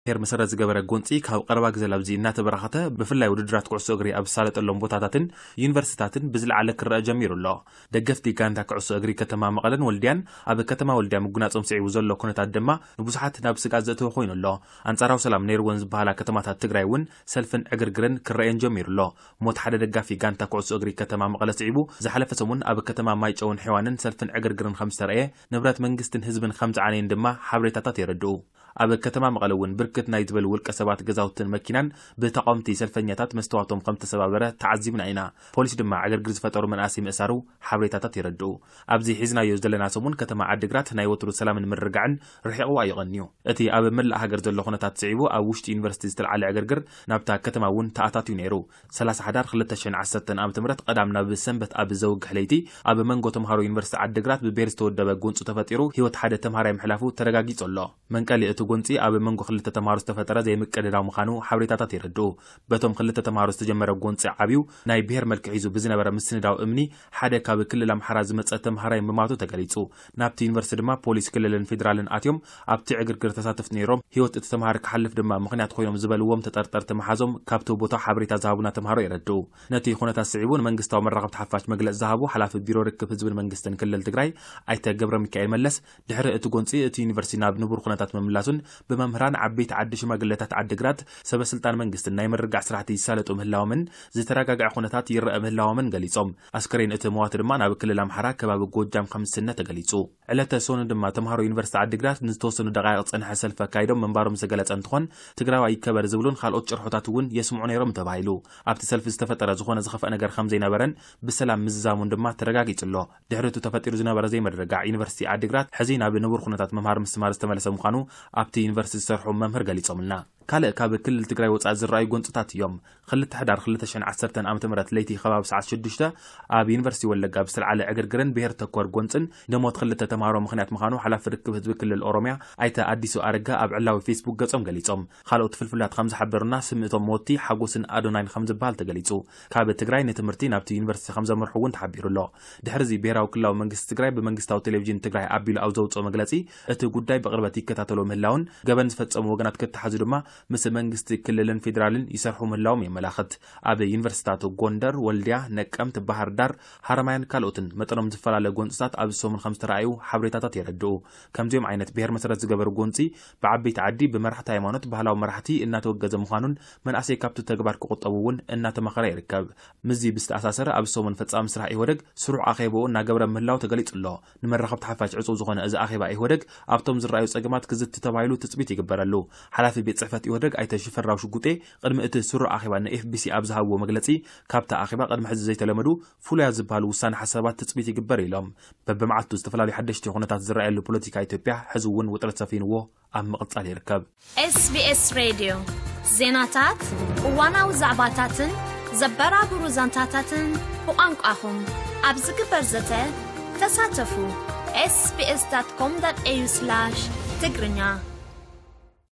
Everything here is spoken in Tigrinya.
ብሄር መሰረት ዝገበረ ጎንፂ ካብ ቀረባ ግዜ ላብዚ እናተበራኸተ፣ ብፍላይ ውድድራት ኩዕሶ እግሪ ኣብ ዝሳለጠሎም ቦታታትን ዩኒቨርሲታትን ብዝለዓለ ክረአ ጀሚሩ ኣሎ። ደገፍቲ ጋንታ ኩዕሶ እግሪ ከተማ መቐለን ወልድያን ኣብ ከተማ ወልድያ ምጉናጾም ስዒቡ ዘሎ ኩነታት ድማ ንብዙሓት ናብ ስግኣት ዘእተወ ኮይኑ ኣሎ። ኣንጻራዊ ሰላም ነይርወን ዝበሃላ ከተማታት ትግራይ እውን ሰልፍን ዕግርግርን ክረኣየን ጀሚሩ ኣሎ። ሞት ሓደ ደጋፊ ጋንታ ኩዕሶ እግሪ ከተማ መቐለ ስዒቡ ዝሓለፈ ሰሙን ኣብ ከተማ ማይጨውን ሔዋንን ሰልፍን ዕግርግርን ከም ዝተረኣየ፣ ንብረት መንግስትን ህዝብን ከም ዝዓነየን ድማ ሓበሬታታት የረድኡ። ኣብ ከተማ መቐለ እውን ብርክት ናይ ዝበሉ ውልቀ ሰባት ገዛውትን መኪናን ብተቓወምቲ ሰልፈኛታት መስተዋቶም ከም ተሰባበረ ተዓዚብና ኢና። ፖሊስ ድማ ዕግርግር ዝፈጠሩ መናእሰይ ምእሳሩ ሓበሬታታት የረድኡ። ኣብዚ ሒዝናዮ ዘለና ሰሙን ከተማ ዓዲግራት ናይ ወትሩ ሰላምን ምርግጋዕን ርሒቕዋ እዩ ቀንዩ። እቲ ኣብ መላእ ሃገር ዘሎ ኩነታት ስዒቡ ኣብ ውሽጢ ዩኒቨርሲቲ ዝተልዓለ ዕግርግር ናብታ ከተማ እውን ተኣታትዩ ነይሩ። ሰላሳ ሓዳር ክልተ ሽሕን ዓሰርተን ዓመተ ምህረት ቀዳም ናብ ሰንበት ኣብ ዘውግሕ ለይቲ ኣብ መንጎ ተምሃሮ ዩኒቨርሲቲ ዓዲግራት ብብሄር ዝተወደበ ጎንፂ ተፈጢሩ ህይወት ሓደ ተምሃራይ ምሕላፉ ተረጋጊጹ ኣሎ። መንቀሊ እቲ ጎንፂ ኣብ መንጎ ክልተ ተምሃሮ ዝተፈጠረ ዘይምቅድዳው ምዃኑ ሓበሬታታት የረድኡ። በቶም ክልተ ተምሃሮ ዝተጀመረ ጎንፂ ዓብዩ ናይ ብሄር መልክዕ ሒዙ ብዝነበረ ምስንዳው እምኒ ሓደ ካብ ክልል ኣምሓራ ዝመፀ ተምሃራይ ምማቱ ተገሊፁ። ናብቲ ዩኒቨርሲቲ ድማ ፖሊስ ክልልን ፌዴራልን ኣትዮም ኣብቲ ዕግርግር ተሳተፍቲ ነይሮም። ህይወት እቲ ተምሃሪ ክሓልፍ ድማ ምኽንያት ኮይኖም ዝበልዎም ተጠርጠርቲ መሓዞም ካብቲ ቦታ ሓበሬታ ዝሃቡና ተምሃሮ የረድኡ። ነቲ ኩነታት ስዒቡ ንመንግስታዊ መራኸብቲ ሓፋሽ መግለፂ ዝሃቡ ሓላፊ ቢሮ ርክብ ህዝብን መንግስትን ክልል ትግራይ ኣይተ ገብረ ሚካኤል መለስ፣ ድሕሪ እቲ ጎንፂ እቲ ዩኒቨርሲቲ ናብ ንቡር ኩነታት ምምላሱን ብመምህራን ዓበይቲ ዓዲ ሽማግለታት ዓዲግራት ሰበ ስልጣን መንግስትን ናይ ምርግጋዕ ስራሕቲ ይሳለጡ ምህላዎምን ዝተረጋግዐ ኩነታት ይረአ ምህላዎምን ገሊፆም። ኣስከሬን እቲ መዋቲ ድማ ናብ ክልል ኣምሓራ ከባቢ ጎጃም ከም ዝስነ ተገሊፁ። ዕለተ ሶኑ ድማ ተምሃሮ ዩኒቨርሲቲ ዓዲግራት ንዝተወሰኑ ደቃይቕ ዝፀንሐ ሰልፊ ኣካይዶም ምንባሮም ዝተገለፀ እንትኾን፣ ትግራዋይ ይከበር ዝብሉን ካልኦት ጭርሖታት እውን የስምዑ ነይሮም ተባሂሉ። ኣብቲ ሰልፊ ዝተፈጠረ ዝኾነ ዝኸፍአ ነገር ከም ዘይነበረን ብሰላም ምዝዛሙን ድማ ተረጋጊጹ ኣሎ። ድሕሪ እቲ ተፈጢሩ ዝነበረ ዘይምርግጋዕ ዩኒቨርሲቲ ዓዲግራት ሕዚ ናብ ንቡር ኩነታት ምምሃር ምስትምሃር ዝተመለሰ ምዃኑ ኣብቲ ዩኒቨርሲቲ ዝሰርሑ መምህር ገሊጾምልና። ካልእ ካብ ክልል ትግራይ ወጻኢ ዝረኣዩ ጎንጽታት እዮም። ክልተ ሕዳር ክልተ ሽሕን ዓሰርተን ዓመተ ምህረት ለይቲ ከባቢ ሰዓት ሽዱሽተ ኣብ ዩኒቨርሲቲ ወለጋ ብዝተልዓለ ዕግርግርን ብሄር ተኮር ጎንጽን ንሞት ክልተ ተምሃሮ ምኽንያት ምዃኑ ሓላፊ ርክብ ህዝቢ ክልል ኦሮሚያ ኣይተ ኣዲሱ ኣረጋ ኣብ ዕላዊ ፌስቡክ ገጾም ገሊጾም። ካልኦት ፍልፍላት ከም ዝሓበሩና፣ ስም እቶም መወቲ ሓጎስን ኣዶናይን ከም ዝበሃል ተገሊጹ። ካብ ትግራይ ንትምህርቲ ናብቲ ዩኒቨርሲቲ ከም ዘምርሑ እውን ተሓቢሩ ኣሎ። ድሕሪ እዚ ብሄራዊ ክልላዊ መንግስቲ ትግራይ ብመንግስታዊ ቴሌቪዥን ትግራይ ኣቢሉ ኣብ ዘውፅኦ መግለጺ፣ እቲ ጉዳይ ብቕርበት ይከታተሎ ምህላውን ገበን ዝፈጸሙ ወገናት ክተሓዙ ድማ ምስ መንግስቲ ክልልን ፌዴራልን ይሰርሑ ምህላዎም የመላኽት። ኣብ ዩኒቨርሲቲታት ጎንደር፣ ወልድያ፣ ነቀምት፣ ባህር ዳር፣ ሃረማያን ካልኦትን መጠኖም ዝፈላለ ጎንፅታት ኣብዚ ሰሙን ከም ዝተረኣዩ ሓበሬታታት የረድኡ። ከምዚኦም ዓይነት ብሄር መሰረት ዝገበሩ ጎንፂ ብዓበይቲ ዓዲ፣ ብመራሕቲ ሃይማኖት፣ ባህላዊ መራሕቲ እናተወገዘ ምዃኑን መናእሰይ ካብቲ ተግባር ክቑጠቡ እውን እናተመኸረ ይርከብ። ምስዚ ብዝተኣሳሰረ ኣብዚ ሰሙን ፈጻሚ ስራሕ ኢህወደግ ስሩዕ ኣኼባኡ እናገበረ ምህላው ተገሊጹ ኣሎ። ንመራኸብቲ ሓፋሽ ዕጹው ዝኾነ እዚ ኣኼባ ኢህወደግ ኣብቶም ዝረኣዩ ጸገማት ክዝቲ ተባሂሉ ትጽቢት ይግበረሉ። ሓላፊ ቤት ጽሕፈት ኢህወደግ ኣይተ ሽፈራው ሽጉጤ ቅድሚ እቲ ስሩዕ ኣኼባ ንኤፍቢሲ ኣብ ዝሃብዎ መግለጺ፣ ካብቲ ኣኼባ ቅድሚ ሕዚ ዘይተለመዱ ፍሉያት ዝበሃሉ ውሳነ ሓሳባት ትጽቢት ይግበር ኢሎም። በብመዓልቱ ዝተፈላለዩ ሓደሽቲ ኩነታት ዝረኣየሉ ፖለቲካ ኢትዮጵያ ሕዚ እውን ውጥረት ሰፊንዎ ኣብ ምቕጻል ይርከብ። ኤስቢኤስ ሬድዮ ዜናታት፣ እዋናዊ ዛዕባታትን ዘበራብሩ ዛንታታትን ብቋንቋኹም ኣብ ዝግበር ዘተ ተሳተፉ። ኤስቢኤስ ዳት ኮም ዳት ኤዩ ስላሽ ትግርኛ።